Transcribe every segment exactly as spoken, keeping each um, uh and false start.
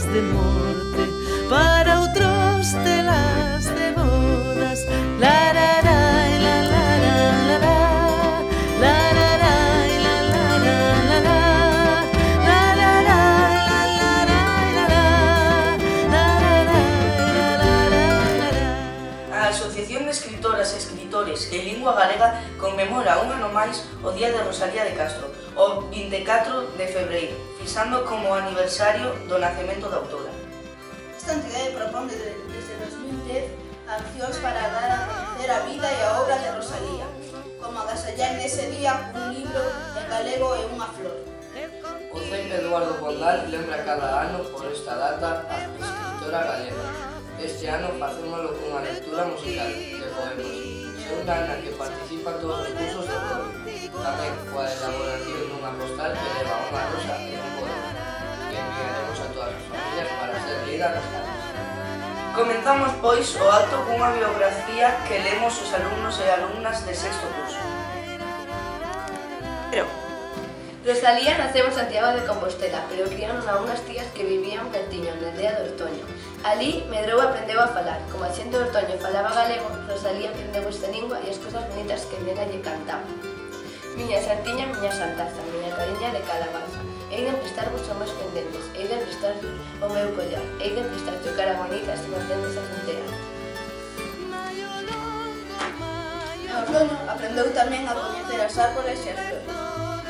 de morte, para outros telas de bodas. La la la la la la la la, la la la la la la la, la la la la la la la la. A Asociación de Escritoras e Escritores en Lingua Galega conmemora un ano máis o Día de Rosalía de Castro, o vinte e catro de febreiro, fixando como aniversario do nacemento da autora. Esta entidade propón desde, desde dos mil dez accións para dar a conocer a vida e a obra de Rosalía, como agasallar nese día un libro en galego e unha flor. O C E P Eduardo Bondal lembra cada ano por esta data a escritora galega. Este ano facémolo cunha lectura musical de poemas, segunda na que participan todos os cursos do coro, tamén coa elaboración dunha postal que leva unha rosa e un poema, que enviaremos a todas as familias para ser lida nas casas. Comenzamos, pois, o acto cunha biografía que lemos os alumnos e alumnas de sexto curso. Pero Rosalía naceu en Santiago de Compostela, pero criaron a unhas tías que vivían pertiño na aldea de Ortoño. Alí medrou e aprendeu a falar. Como a xente de Ortoño falaba galego, Rosalía aprendeu esta lingua e as cousas bonitas que nela lle cantaban. Miña santiña, miña santaza, miña cariña de calabaza. Hei de emprestarvos os meus pendentes, hei de emprestarvos o meu collar, hei de emprestar tu cara bonita se me aprendes a frontera. En Ortoño aprendeu tamén a coñecer as árboles e as flores,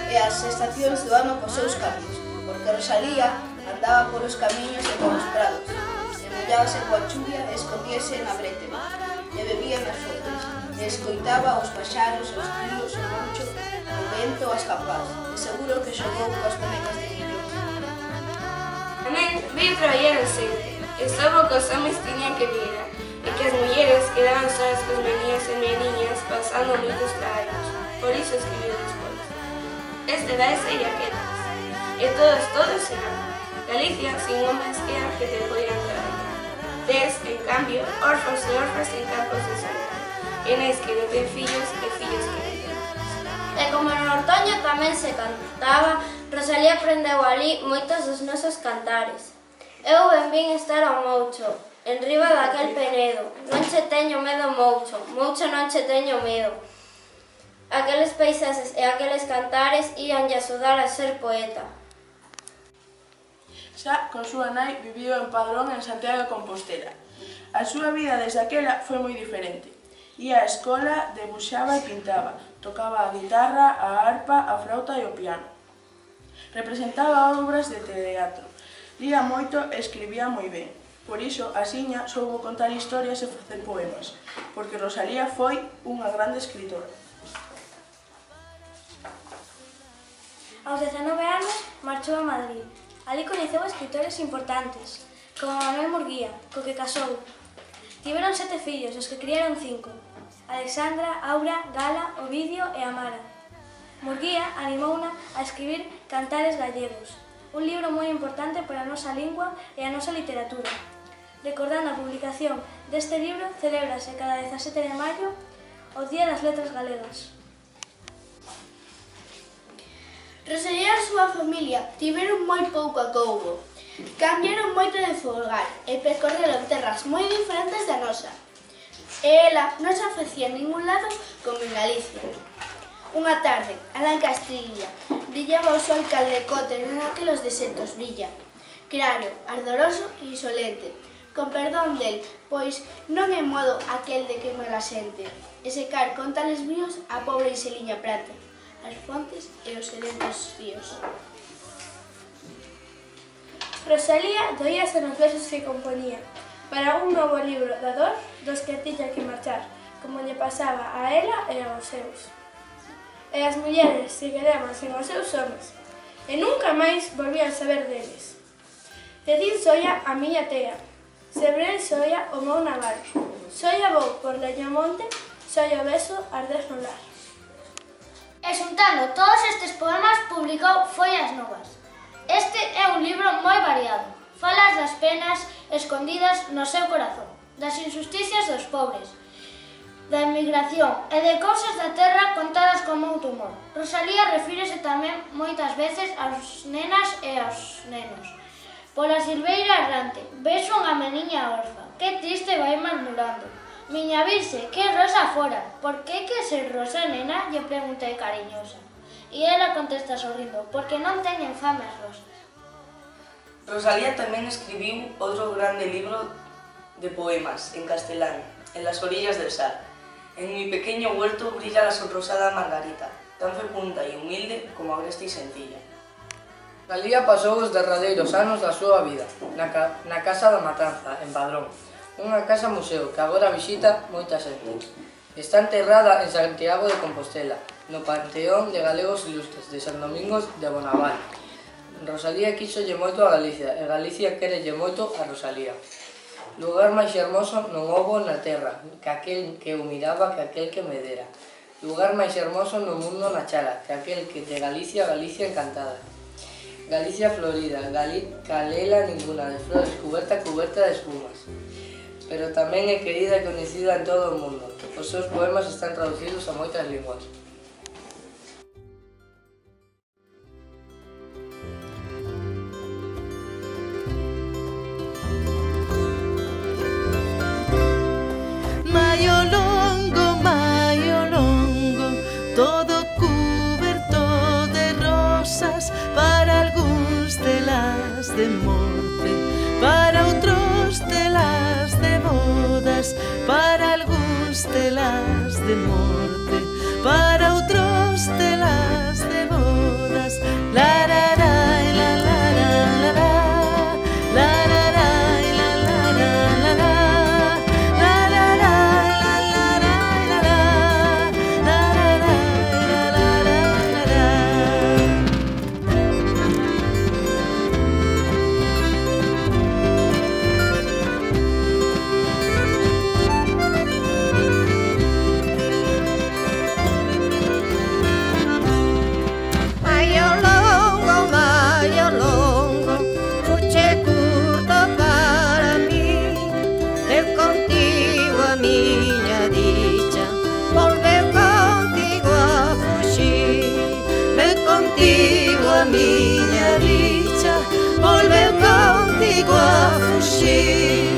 e as estacións do ano cos seus camiños, porque Rosalía andaba polos camiños e polos prados, e mollábase coa chuvia e escondíase na brétema, e bebía nas fontes, e escoitaba os paxaros, os grillos, o moncho, o vento, as campás, e seguro que xogou coas bonecas de niño. Tamén vi traballar o centro, e soubo que os homes tiñan que virar, e que as mulleres quedaban solas cos meniños e meniñas pasando moitos traballos. Por iso escribiu despois. Este da ese e aquelas, e todos, todos serán. Galicia sin homes que a que te poidan traballar. Tes, en cambio, orfos e orfas en campos de soledad, e nais que non ten fillos e fillos que non ten. E como no Ortoño tamén se cantaba, Rosalía aprendeu ali moitos dos nosos cantares. Eu ben vin estar ao Moucho, en riba daquel penedo. Non che teño medo, Moucho, Moucho non che teño medo. Aqueles paisaxes e aqueles cantares íanlle axudar a ser poeta. Xa con súa nai viviu en Padrón en Santiago de Compostela. A súa vida desde aquela foi moi diferente. Ía á escola, debuxaba e pintaba, tocaba a guitarra, a arpa, a flauta e o piano. Representaba obras de teatro, lía moito e escribía moi ben. Por iso, asiña soubo contar historias e facer poemas, porque Rosalía foi unha grande escritora. Aos dezanove anos marchou a Madrid. Ali coñeceu escritores importantes, como Manuel Murguía, co que casou. Tiveron sete fillos, os que criaron cinco: Alexandra, Aura, Gala, Ovidio e Amara. Murguía animouna a escribir Cantares gallegos, un libro moi importante para a nosa lingua e a nosa literatura. Recordando a publicación deste libro, celébrase cada dezasete de maio o Día das Letras Galegas. Rosalía e a súa familia tiveron moi pouco acougo. Cambiaron moito de folgar e percorreron terras moi diferentes da nosa. E ela non se ofrecía en ningún lado como en Galicia. Unha tarde, alá en Castilla, brillaba o sol caldecote naquelos desertos brilla. Claro, ardoroso e insolente, con perdón del, pois non é modo aquel de queimar a xente, e secar con tales bríos a pobre Iseliña Prata, as fontes e os sedentos ríos. Rosalía doíase nos versos que componía para un novo libro da dor dos que tiña que marchar, como lle pasaba a ela e aos seus. E as mulleres se quedaban sen os seus homes, e nunca máis volvían saber deles. Decín soia a miña tea, sebrei soia o meu naval, soia vou por Leñamonte, soia o beso arder no lar. E xuntando todos estes poemas publicou Follas Novas. Este é un libro moi variado. Falas das penas escondidas no seu corazón, das injusticias dos pobres, da emigración e de cousas da terra contadas con moito humor. Rosalía refírese tamén moitas veces aos nenas e aos nenos, Pola silveira errante, vexo unha meniña orfa, que triste vai murmurando. Miña virxe, que rosa fora, por que que ser rosa, nena? Lle preguntei cariñosa. E ela contesta sorrindo, porque non teñen fame as rosas. Rosalía tamén escribiu outro grande libro de poemas en castelán, En las orillas del Sar. En mi pequeño huerto brilla la sonrosada margarita, tan fecunda e humilde como agreste e sencilla. Rosalía pasou os derradeiros anos da súa vida na, ca na Casa da Matanza, en Padrón, unha casa museo que agora visita moita xente. Está enterrada en Santiago de Compostela, no Panteón de Galegos Ilustres de San Domingos de Bonaval. Rosalía quíxolle moito a Galicia e Galicia quérelle moito a Rosalía. Lugar máis hermoso non houbo na terra que aquel que o miraba que aquel que me dera. Lugar máis hermoso no mundo na chala que aquel que de Galicia, Galicia encantada. Galicia florida, Gali calela ninguna de flores, cuberta, cuberta de espumas. Pero tamén é querida e coñecida en todo o mundo. Os seus poemas están traducidos a moitas linguas. Maio longo, maio longo, todo cuberto de rosas, para algúns telas de morte, para outros telas de bodas, para algúns telas de morte, para outros telas de bodas. La la la la la la la la la la la la la la. Miña dicha volveu contigo a fuxir.